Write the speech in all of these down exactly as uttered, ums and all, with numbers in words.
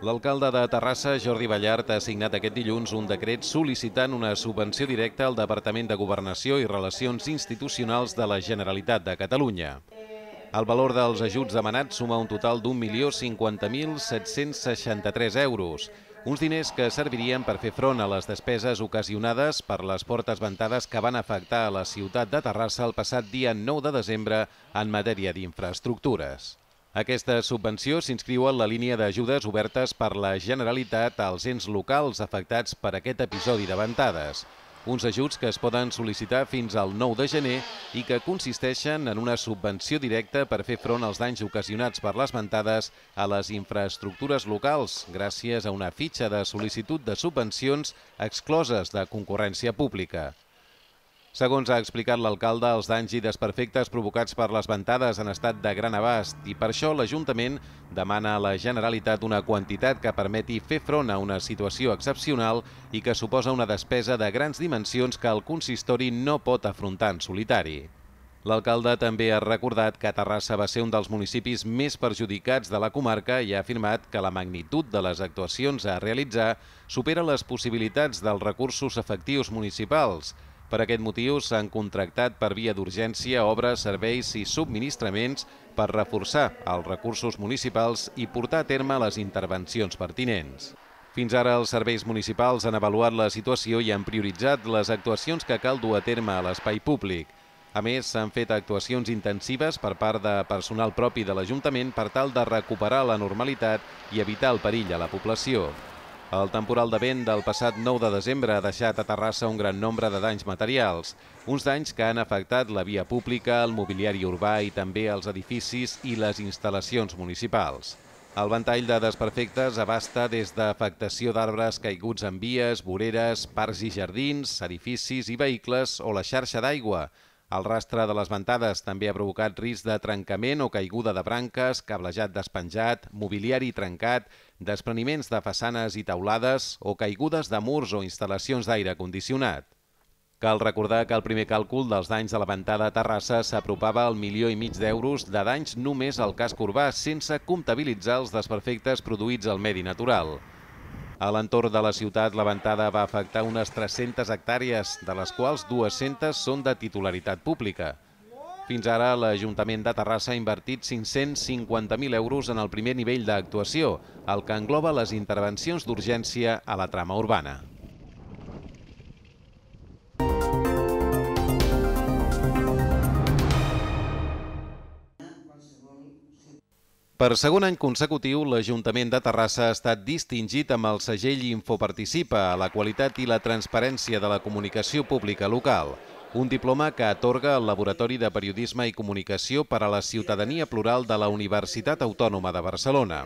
L'alcalde de Terrassa, Jordi Ballart, ha signat aquest dilluns un decret sol·licitant una subvenció directa al Departament de Governació i Relacions Institucionals de la Generalitat de Catalunya. El valor dels ajuts demanats suma un total d'un milió cinquanta mil set-cents seixanta-tres euros, uns diners que servirien per fer front a les despeses ocasionades per les portes ventades que van afectar a la ciutat de Terrassa el passat dia nou de desembre en matèria d'infraestructures. Aquesta subvenció s'inscriu en la línia d'ajudes obertes per la Generalitat als ens locals afectats per aquest episodi de ventades. Uns ajuts que es poden sol·licitar fins al nou de gener i que consisteixen en una subvenció directa per fer front als danys ocasionats per les ventades a les infraestructures locals, gràcies a una fitxa de sol·licitud de subvencions excloses de concurrència pública. Segons ha explicat l'alcalde, els danys i desperfectes provocats per les ventades han estat de gran abast i per això l'Ajuntament demana a la Generalitat una quantitat que permeti fer front a una situació excepcional i que suposa una despesa de grans dimensions que el consistori no pot afrontar en solitari. L'alcalde també ha recordat que Terrassa va ser un dels municipis més perjudicats de la comarca i ha afirmat que la magnitud de les actuacions a realitzar supera les possibilitats dels recursos efectius municipals. Per aquest motiu s'han contractat per via d'urgència obres, serveis i subministraments per reforçar els recursos municipals i portar a terme les intervencions pertinents. Fins ara els serveis municipals han avaluat la situació i han prioritzat les actuacions que cal dur a terme a l'espai públic. A més, s'han fet actuacions intensives per part de personal propi de l'Ajuntament per tal de recuperar la normalitat i evitar el perill a la població. El temporal de vent del passat nou de desembre ha deixat a Terrassa un gran nombre de danys materials, uns danys que han afectat la via pública, el mobiliari urbà i també els edificis i les instal·lacions municipals. El ventall de desperfectes abasta des d'afectació d'arbres caiguts en vies, voreres, parcs i jardins, edificis i vehicles o la xarxa d'aigua. El rastre de les ventades també ha provocat risc de trencament o caiguda de branques, cablejat despenjat, mobiliari trencat, despreniments de façanes i teulades o caigudes de murs o instal·lacions d'aire condicionat. Cal recordar que el primer càlcul dels danys de la ventada a Terrassa s'apropava al milió i mig d'euros de danys només al casc urbà, sense comptabilitzar els desperfectes produïts al medi natural. A l'entorn de la ciutat, la ventada va afectar unes tres-centes hectàrees, de les quals dues-centes són de titularitat pública. Fins ara, l'Ajuntament de Terrassa ha invertit cinc-cents cinquanta mil euros en el primer nivell d'actuació, el que engloba les intervencions d'urgència a la trama urbana. Per segon any consecutiu, l'Ajuntament de Terrassa ha estat distingit amb el segell Infoparticipa a la qualitat i la transparència de la comunicació pública local, un diploma que atorga el Laboratori de Periodisme i Comunicació per a la Ciutadania Plural de la Universitat Autònoma de Barcelona.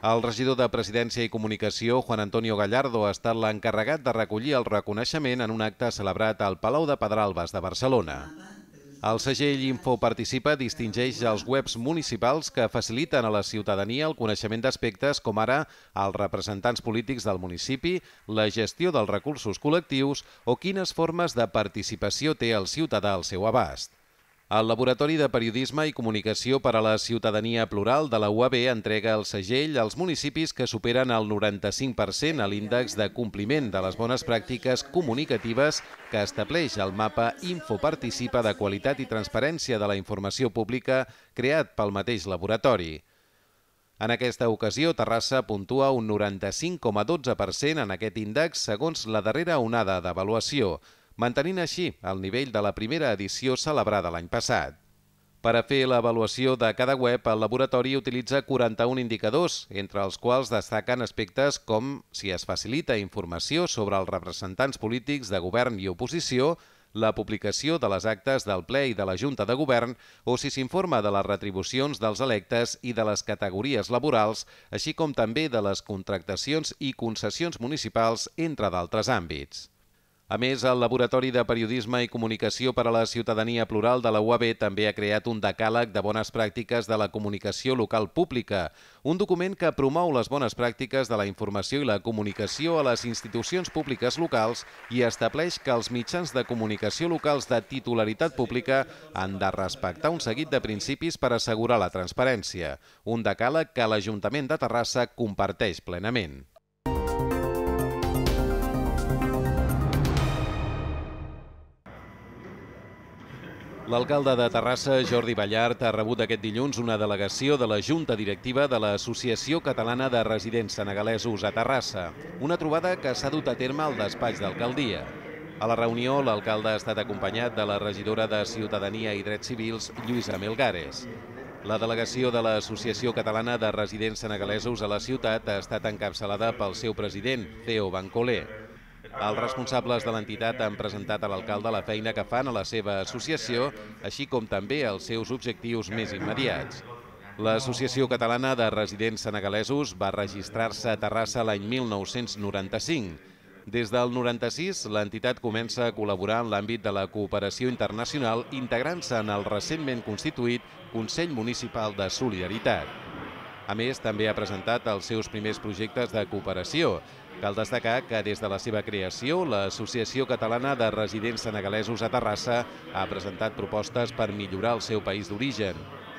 El regidor de Presidència i Comunicació, Juan Antonio Gallardo, ha estat l'encarregat de recollir el reconeixement en un acte celebrat al Palau de Pedralbes de Barcelona. El segell Infoparticipa distingeix els webs municipals que faciliten a la ciutadania el coneixement d'aspectes com ara els representants polítics del municipi, la gestió dels recursos col·lectius o quines formes de participació té el ciutadà al seu abast. El Laboratori de Periodisme i Comunicació per a la Ciutadania Plural de la U A B entrega el segell als municipis que superen el noranta-cinc per cent a l'índex de compliment de les bones pràctiques comunicatives que estableix el mapa Infoparticipa de qualitat i transparència de la informació pública creat pel mateix laboratori. En aquesta ocasió, Terrassa puntua un noranta-cinc coma dotze per cent en aquest índex segons la darrera onada d'avaluació, mantenint així el nivell de la primera edició celebrada l'any passat. Per a fer l'avaluació de cada web, el laboratori utilitza quaranta-un indicadors, entre els quals destaquen aspectes com si es facilita informació sobre els representants polítics de govern i oposició, la publicació de les actes del ple i de la Junta de Govern o si s'informa de les retribucions dels electes i de les categories laborals, així com també de les contractacions i concessions municipals, entre d'altres àmbits. A més, el Laboratori de Periodisme i Comunicació per a la Ciutadania Plural de la U A B també ha creat un decàleg de bones pràctiques de la comunicació local pública, un document que promou les bones pràctiques de la informació i la comunicació a les institucions públiques locals i estableix que els mitjans de comunicació locals de titularitat pública han de respectar un seguit de principis per assegurar la transparència, un decàleg que l'Ajuntament de Terrassa comparteix plenament. L'alcalde de Terrassa, Jordi Ballart, ha rebut aquest dilluns una delegació de la Junta Directiva de l'Associació Catalana de Residents Senegalesos a Terrassa, una trobada que s'ha dut a terme al despatx d'alcaldia. A la reunió, l'alcalde ha estat acompanyat de la regidora de Ciutadania i Drets Civils, Lluïsa Melgares. La delegació de l'Associació Catalana de Residents Senegalesos a la ciutat ha estat encapçalada pel seu president, Theo Bancolé. Els responsables de l'entitat han presentat a l'alcalde la feina que fan a la seva associació, així com també els seus objectius més immediats. L'Associació Catalana de Residents Senegalesos va registrar-se a Terrassa l'any mil nou-cents noranta-cinc. Des del noranta-sis, l'entitat comença a col·laborar en l'àmbit de la cooperació internacional, integrant-se en el recentment constituït Consell Municipal de Solidaritat. A més, també ha presentat els seus primers projectes de cooperació. Cal destacar que des de la seva creació, l'Associació Catalana de Residents Senegalesos a Terrassa ha presentat propostes per millorar el seu país d'origen.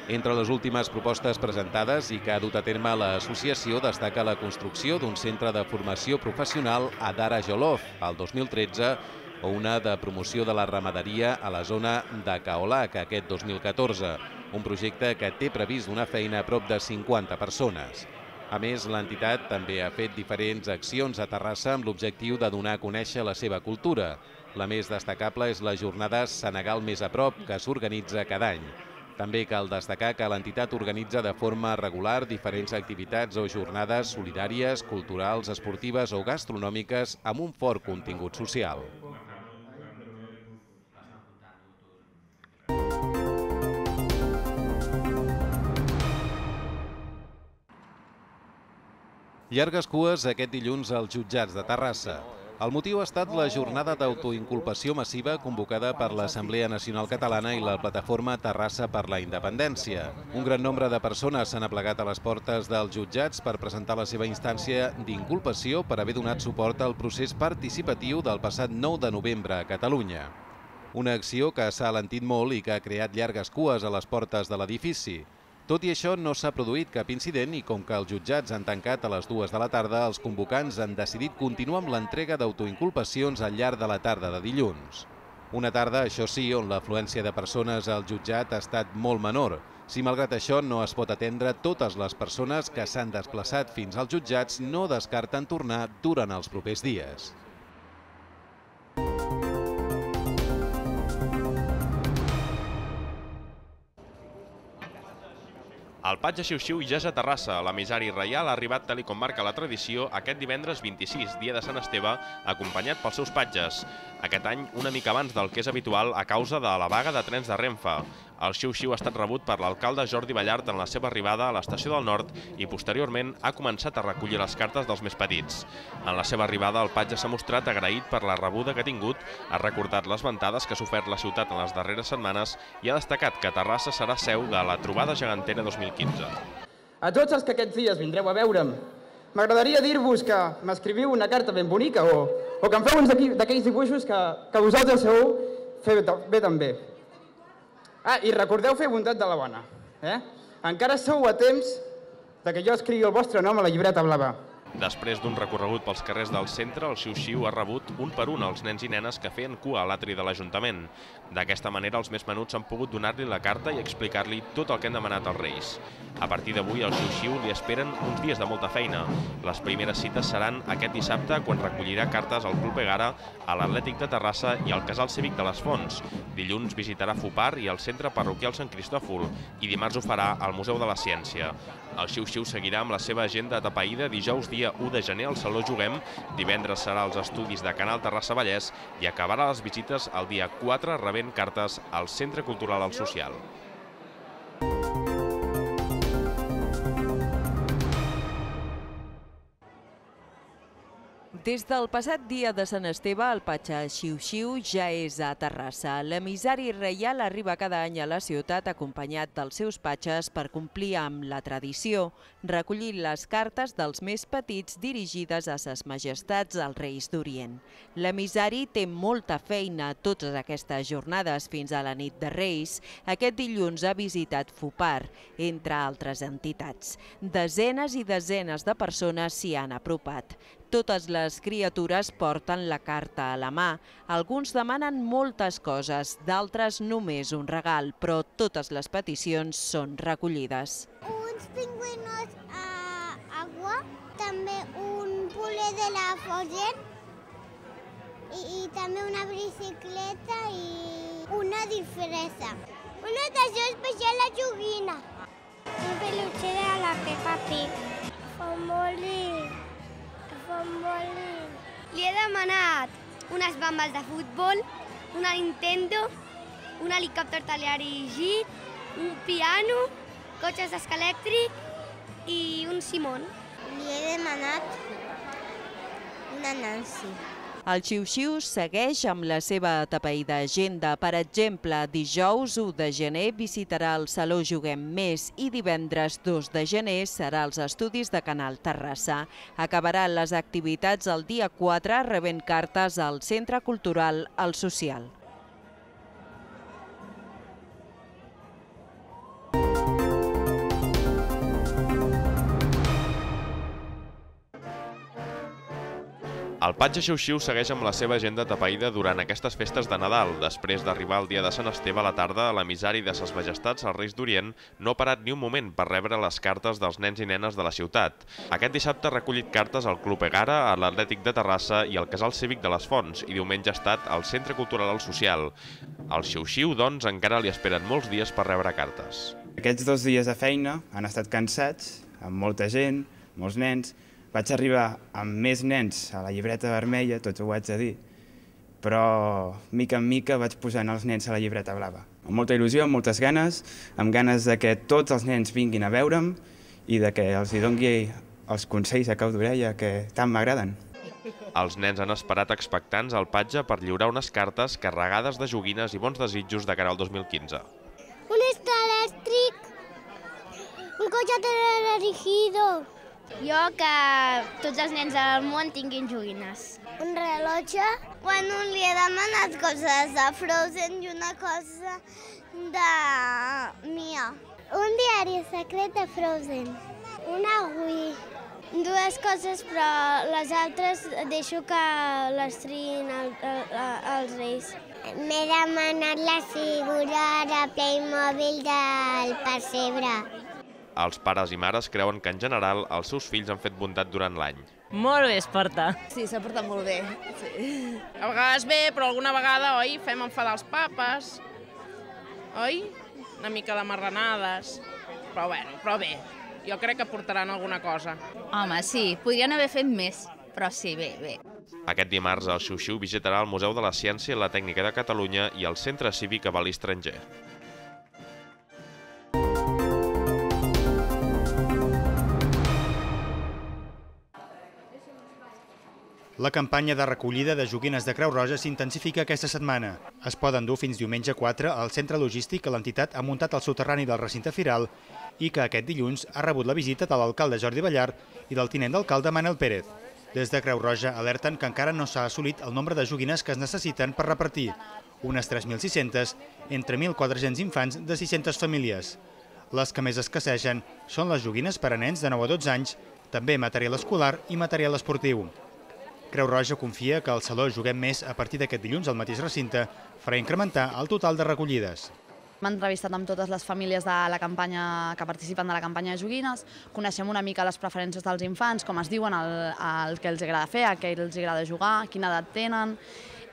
Entre les últimes propostes presentades i que ha dut a terme l'associació destaca la construcció d'un centre de formació professional a Dara Jolof, al dos mil tretze, o una de promoció de la ramaderia a la zona de Kaolac aquest dos mil catorze, un projecte que té previst donar feina a prop de cinquanta persones. A més, l'entitat també ha fet diferents accions a Terrassa amb l'objectiu de donar a conèixer la seva cultura. La més destacable és la jornada Senegal Més a Prop, que s'organitza cada any. També cal destacar que l'entitat organitza de forma regular diferents activitats o jornades solidàries, culturals, esportives o gastronòmiques amb un fort contingut social. Llargues cues aquest dilluns als jutjats de Terrassa. El motiu ha estat la jornada d'autoinculpació massiva convocada per l'Assemblea Nacional Catalana i la plataforma Terrassa per la Independència. Un gran nombre de persones s'han aplegat a les portes dels jutjats per presentar la seva instància d'inculpació per haver donat suport al procés participatiu del passat nou de novembre a Catalunya. Una acció que s'ha alentit molt i que ha creat llargues cues a les portes de l'edifici. Tot i això, no s'ha produït cap incident i com que els jutjats han tancat a les dues de la tarda, els convocants han decidit continuar amb l'entrega d'autoinculpacions al llarg de la tarda de dilluns. Una tarda, això sí, on l'afluència de persones al jutjat ha estat molt menor. Si malgrat això no es pot atendre, totes les persones que s'han desplaçat fins als jutjats no descarten tornar durant els propers dies. El Patge Xiu-Xiu ja és a Terrassa. L'emissari reial ha arribat, tal com marca la tradició, aquest divendres vint-i-sis, dia de Sant Esteve, acompanyat pels seus patges. Aquest any, una mica abans del que és habitual a causa de la vaga de trens de Renfe. El Xiu-Xiu ha estat rebut per l'alcalde Jordi Ballart en la seva arribada a l'estació del Nord i posteriorment ha començat a recollir les cartes dels més petits. En la seva arribada, el patge s'ha mostrat agraït per la rebuda que ha tingut, ha recordat les ventades que ha sofert la ciutat en les darreres setmanes i ha destacat que Terrassa serà seu de la Trobada Gegantera dos mil quinze. A tots els que aquests dies vindreu a veure'm, m'agradaria dir-vos que m'escriviu una carta ben bonica o, o que em feu uns d'aquells dibuixos que, que vosaltres sabeu fer bé també. Ah, i recordeu fer bondat de la bona. Eh? Encara sou a temps de que jo escrigui el vostre nom a la llibreta blava. Després d'un recorregut pels carrers del centre, el Xiu-Xiu ha rebut un per un els nens i nenes que feien cua a l'atri de l'Ajuntament. D'aquesta manera, els més menuts han pogut donar-li la carta i explicar-li tot el que han demanat als Reis. A partir d'avui, al Xiu-Xiu li esperen uns dies de molta feina. Les primeres cites seran aquest dissabte, quan recollirà cartes al Club Egara, a l'Atlètic de Terrassa i al Casal Cívic de les Fonts. Dilluns visitarà Fupar i el Centre Parroquial Sant Cristòfol i dimarts ho farà al Museu de la Ciència. El Xiu-Xiu seguirà amb la seva agenda atapeïda dijous dia u de gener al Saló Juguem, divendres serà als estudis de Canal Terrassa Vallès i acabarà les visites el dia quatre rebent cartes al Centre Cultural al Social. Des del passat dia de Sant Esteve, el Patge Xiu-Xiu ja és a Terrassa. L'emissari reial arriba cada any a la ciutat acompanyat dels seus patges per complir amb la tradició, recollint les cartes dels més petits dirigides a ses majestats als Reis d'Orient. L'emissari té molta feina totes aquestes jornades fins a la nit de Reis. Aquest dilluns ha visitat Fupar, entre altres entitats. Desenes i desenes de persones s'hi han apropat. Totes les criatures porten la carta a la mà. Alguns demanen moltes coses, d'altres només un regal, però totes les peticions són recollides. Uns pingüinos a agua, també un puler de la Foger i, i també una bicicleta i una disfressa. Una estació especial a joguina. Un peluche de la Peppa Pig. Famoli. Famoli. Li he demanat unes bambes de futbol, una Nintendo, un helicòpter teledirigit, un piano, cotxes d'esca elèctric i un Simón. Li he demanat una Nancy. El Xiu-Xiu segueix amb la seva atapeïda agenda. Per exemple, dijous u de gener visitarà el Saló Juguem Més i divendres dos de gener serà als estudis de Canal Terrassa. Acabaran les activitats el dia quatre rebent cartes al Centre Cultural El Social. El Patge Xiu-Xiu segueix amb la seva agenda atapeïda durant aquestes festes de Nadal. Després d'arribar el dia de Sant Esteve a la tarda, l'emissari de ses majestats, els Reis d'Orient, no ha parat ni un moment per rebre les cartes dels nens i nenes de la ciutat. Aquest dissabte ha recollit cartes al Club Egara, a l'Atlètic de Terrassa i al Casal Cívic de les Fonts, i diumenge ha estat al Centre Cultural El Social. Al Xiu-Xiu, doncs, encara li esperen molts dies per rebre cartes. Aquests dos dies de feina han estat cansats, amb molta gent, molts nens. Vaig arribar amb més nens a la llibreta vermella, tots ho haig de dir, però mica en mica vaig posant els nens a la llibreta blava. Amb molta il·lusió, amb moltes ganes, amb ganes de que tots els nens vinguin a veure'm i de que els hi doni els consells a cau d'orella que tant m'agraden. Els nens han esperat expectants al Patge per lliurar unes cartes carregades de joguines i bons desitjos de cara al dos mil quinze. Un estar elèctric, un cotxe teledirigido. Jo que tots els nens del món tinguin joguines. Un rellotge. Quan un li he demanat coses de Frozen i una cosa de Mia. Un diari secret de Frozen. Una Wii. Dues coses, però les altres deixo que les triïn el, el, els Reis. M'he demanat la figura de Playmobil del pessebre. Els pares i mares creuen que, en general, els seus fills han fet bondat durant l'any. Molt bé es porta. Sí, s'ha portat molt bé. Sí. A vegades bé, però alguna vegada, oi, fem enfadar els papes, oi? Una mica de marranades, però bueno, però bé, jo crec que portaran alguna cosa. Home, sí, podrien haver fet més, però sí, bé, bé. Aquest dimarts, el Xiu-Xiu visitarà el Museu de la Ciència i la Tècnica de Catalunya i el Centre Cívic Avalí Estranger. La campanya de recollida de joguines de Creu Roja s'intensifica aquesta setmana. Es poden dur fins diumenge quatre al centre logístic que l'entitat ha muntat al soterrani del recinte firal i que aquest dilluns ha rebut la visita de l'alcalde Jordi Ballart i del tinent d'alcalde Manel Pérez. Des de Creu Roja alerten que encara no s'ha assolit el nombre de joguines que es necessiten per repartir, unes tres mil sis-centes entre mil quatre-cents infants de sis-centes famílies. Les que més escassegen són les joguines per a nens de nou a dotze anys, també material escolar i material esportiu. Creu Roja confia que el Saló Juguem Més, a partir d'aquest dilluns al mateix recinte, farà incrementar el total de recollides. M'he entrevistat amb totes les famílies de la campanya que participen de la campanya de joguines, coneixem una mica les preferències dels infants, com es diuen, el, el que els agrada fer, el que els agrada jugar, quina edat tenen,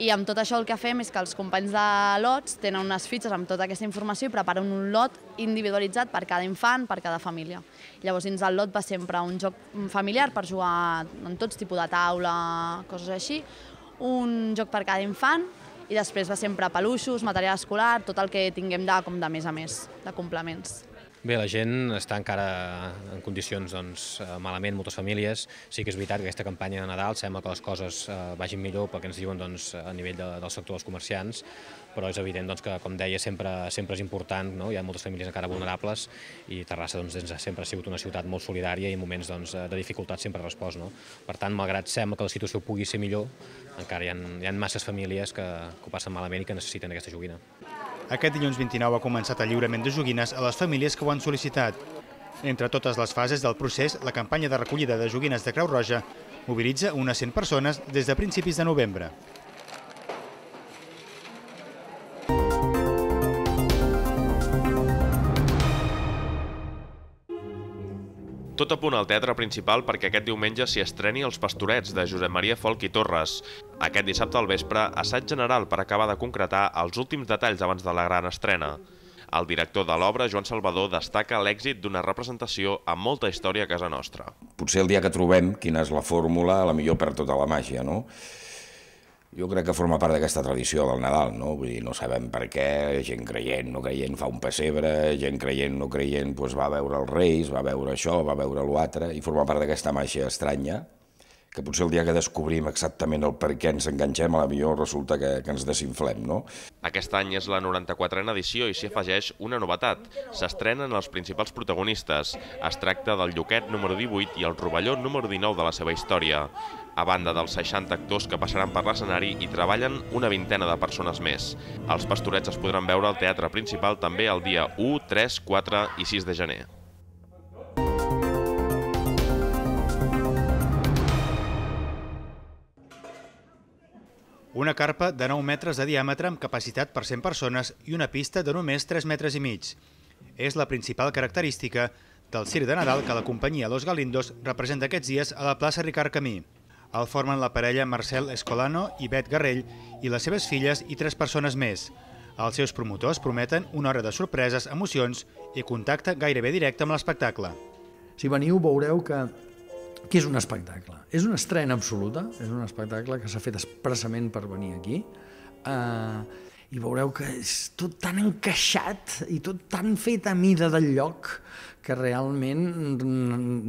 i amb tot això el que fem és que els companys de lots tenen unes fitxes amb tota aquesta informació i preparen un lot individualitzat per cada infant, per cada família. Llavors dins del lot va sempre un joc familiar per jugar en tots tipus de taula, coses així, un joc per cada infant i després va sempre peluixos, material escolar, tot el que tinguem de, com de més a més, de complements. Bé, la gent està encara en condicions malament, moltes famílies. Sí que és veritat que aquesta campanya de Nadal sembla que les coses vagin millor pel que ens diuen a nivell del sector dels comerciants, però és evident que, com deia, sempre és important, hi ha moltes famílies encara vulnerables i Terrassa sempre ha sigut una ciutat molt solidària i en moments de dificultat sempre ha respost. Per tant, malgrat sembla que la situació pugui ser millor, encara hi ha masses famílies que ho passen malament i que necessiten aquesta joguina. Aquest dilluns vint-i-nou ha començat el lliurament de joguines a les famílies que ho han sol·licitat. Entre totes les fases del procés, la campanya de recollida de joguines de Creu Roja mobilitza unes cent persones des de principis de novembre. Tot a punt al Teatre Principal perquè aquest diumenge s'hi estreni Els Pastorets, de Josep Maria Folch i Torres. Aquest dissabte al vespre, assaig general per acabar de concretar els últims detalls abans de la gran estrena. El director de l'obra, Joan Salvador, destaca l'èxit d'una representació amb molta història a casa nostra. Potser el dia que trobem quina és la fórmula, a la millor perd tota la màgia, no? Jo crec que forma part d'aquesta tradició del Nadal, no? Vull dir, no sabem per què, gent creient, no creient fa un pessebre, gent creient, no creient, doncs va veure els Reis, va veure això, va veure l'altre, i forma part d'aquesta màgia estranya, que potser el dia que descobrim exactament el per què ens enganxem, a la millor resulta que, que ens desinflem, no? Aquest any és la noranta-quatrena edició i s'hi afegeix una novetat. S'estrenen els principals protagonistes. Es tracta del Lluquet número divuit i el Rovelló número dinou de la seva història. A banda dels seixanta actors que passaran per l'escenari, hi treballen una vintena de persones més. Els Pastorets es podran veure al Teatre Principal també el dia u, tres, quatre i sis de gener. Una carpa de nou metres de diàmetre amb capacitat per cent persones i una pista de només tres metres i mig. És la principal característica del circ de Nadal que la companyia Los Galindos representa aquests dies a la plaça Ricard Camí. El formen la parella Marcel Escolano i Bet Garrell i les seves filles i tres persones més. Els seus promotors prometen una hora de sorpreses, emocions i contacte gairebé directe amb l'espectacle. Si veniu veureu que, que és un espectacle. És una estrena absoluta, és un espectacle que s'ha fet expressament per venir aquí. Uh, I veureu que és tot tan encaixat i tot tan fet a mida del lloc que realment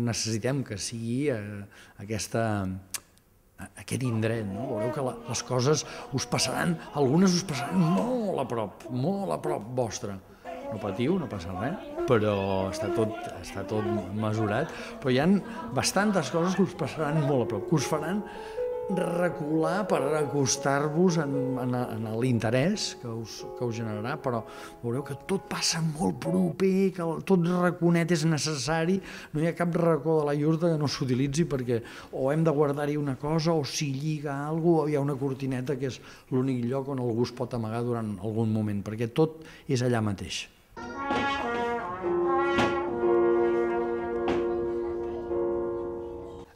necessitem que sigui uh, aquesta... aquest indret, no? Veureu que la, les coses us passaran, algunes us passaran molt a prop, molt a prop vostre. No patiu, no passa res, però està tot, està tot mesurat, però hi ha bastantes coses que us passaran molt a prop, que us faran recular per acostar-vos en, en, en l'interès que us, que us generarà, però veureu que tot passa molt proper, que tot raconet és necessari, no hi ha cap racó de la iurta que no s'utilitzi perquè o hem de guardar-hi una cosa o s'hi lliga alguna cosa, o hi ha una cortineta que és l'únic lloc on algú es pot amagar durant algun moment, perquè tot és allà mateix.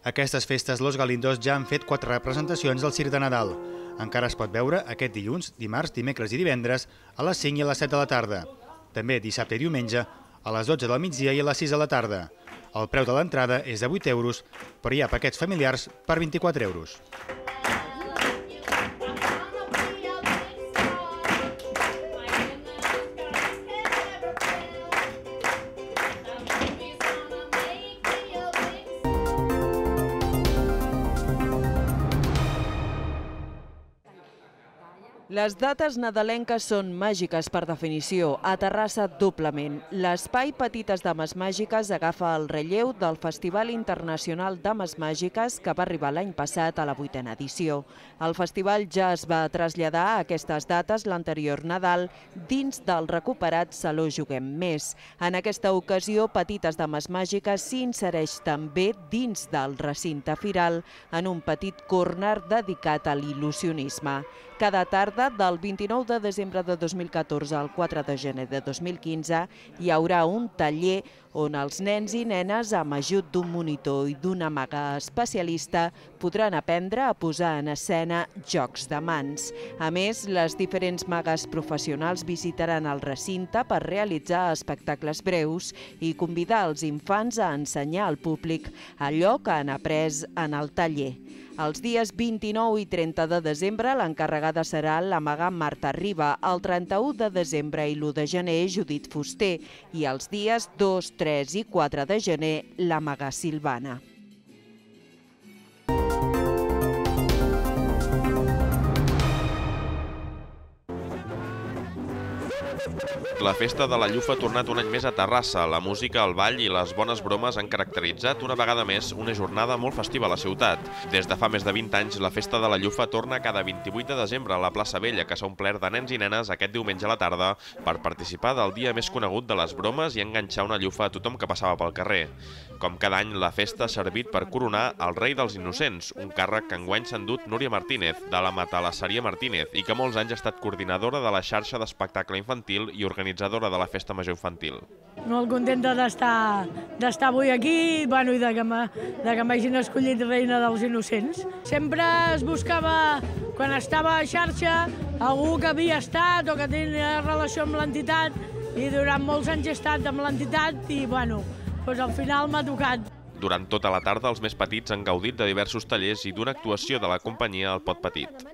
Aquestes festes Los Galindos ja han fet quatre representacions del circ de Nadal. Encara es pot veure aquest dilluns, dimarts, dimecres i divendres a les cinc i a les set de la tarda. També dissabte i diumenge a les dotze del migdia i a les sis de la tarda. El preu de l'entrada és de vuit euros, però hi ha paquets familiars per vint-i-quatre euros. Les dates nadalenques són màgiques per definició, a Terrassa doblement. L'espai Petites Dames Màgiques agafa el relleu del Festival Internacional Dames Màgiques que va arribar l'any passat a la vuitena edició. El festival ja es va traslladar a aquestes dates l'anterior Nadal dins del recuperat Saló Juguem Més. En aquesta ocasió, Petites Dames Màgiques s'insereix també dins del recinte firal en un petit córner dedicat a l'il·lusionisme. Cada tarda, del vint-i-nou de desembre de dos mil catorze al quatre de gener de dos mil quinze, hi haurà un taller on els nens i nenes, amb ajut d'un monitor i d'una maga especialista, podran aprendre a posar en escena jocs de mans. A més, les diferents magues professionals visitaran el recinte per realitzar espectacles breus i convidar els infants a ensenyar al públic allò que han après en el taller. Els dies vint-i-nou i trenta de desembre l'encarregada serà la maga Marta Riba, el trenta-u de desembre i l'u de gener Judit Fuster i els dies dos, tres i quatre de gener la maga Silvana. La Festa de la Llufa ha tornat un any més a Terrassa. La música, el ball i les bones bromes han caracteritzat una vegada més una jornada molt festiva a la ciutat. Des de fa més de vint anys, la Festa de la Llufa torna cada vint-i-vuit de desembre a la plaça Vella, que s'ha omplert de nens i nenes aquest diumenge a la tarda per participar del dia més conegut de les bromes i enganxar una llufa a tothom que passava pel carrer. Com cada any, la festa ha servit per coronar el rei dels innocents, un càrrec que enguany s'ha endut Núria Martínez, de la Matalasseria Martínez, i que molts anys ha estat coordinadora de la xarxa d'espectacle infantil i organitzadora de la Festa Major Infantil. Molt contenta d'estar d'estar avui aquí bueno, i de que m'hagin escollit reina dels innocents. Sempre es buscava, quan estava a xarxa, algú que havia estat o que tenia relació amb l'entitat i durant molts anys he estat amb l'entitat i bueno, doncs al final m'ha tocat. Durant tota la tarda, els més petits han gaudit de diversos tallers i d'una actuació de la companyia El Pot Petit.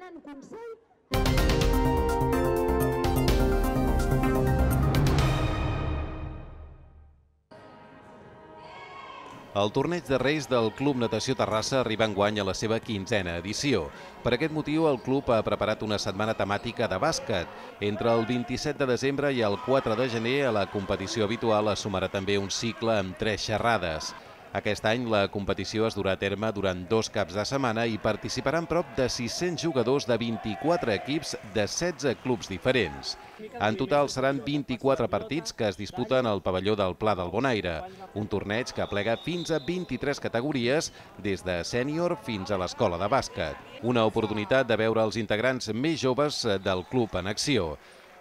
El torneig de Reis del Club Natació Terrassa arriba enguany a la seva quinzena edició. Per aquest motiu, el club ha preparat una setmana temàtica de bàsquet. Entre el vint-i-set de desembre i el quatre de gener, a la competició habitual es sumarà també un cicle amb tres xerrades. Aquest any la competició es durà a terme durant dos caps de setmana i participaran prop de sis-cents jugadors de vint-i-quatre equips de setze clubs diferents. En total seran vint-i-quatre partits que es disputen al pavelló del Pla del Bonaire, un torneig que aplega fins a vint-i-tres categories, des de sènior fins a l'escola de bàsquet. Una oportunitat de veure els integrants més joves del club en acció.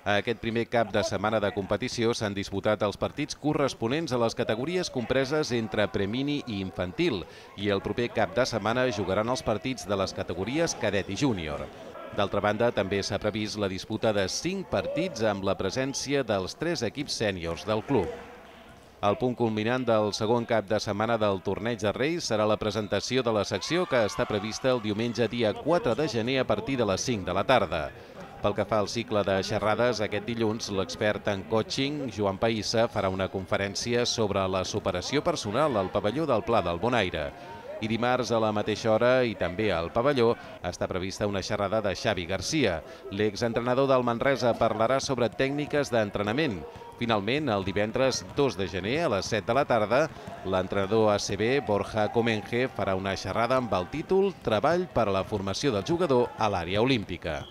A aquest primer cap de setmana de competició s'han disputat els partits corresponents a les categories compreses entre premini i infantil i el proper cap de setmana jugaran els partits de les categories cadet i júnior. D'altra banda, també s'ha previst la disputa de cinc partits amb la presència dels tres equips sèniors del club. El punt culminant del segon cap de setmana del torneig de Reis serà la presentació de la secció que està prevista el diumenge dia quatre de gener a partir de les cinc de la tarda. Pel que fa al cicle de xerrades, aquest dilluns l'expert en coaching, Joan Païssa, farà una conferència sobre la superació personal al pavelló del Pla del Bonaire. I dimarts a la mateixa hora i també al pavelló està prevista una xerrada de Xavi Garcia. L'exentrenador del Manresa parlarà sobre tècniques d'entrenament. Finalment, el divendres dos de gener a les set de la tarda, l'entrenador A C B, Borja Comenge, farà una xerrada amb el títol Treball per a la formació del jugador a l'àrea olímpica.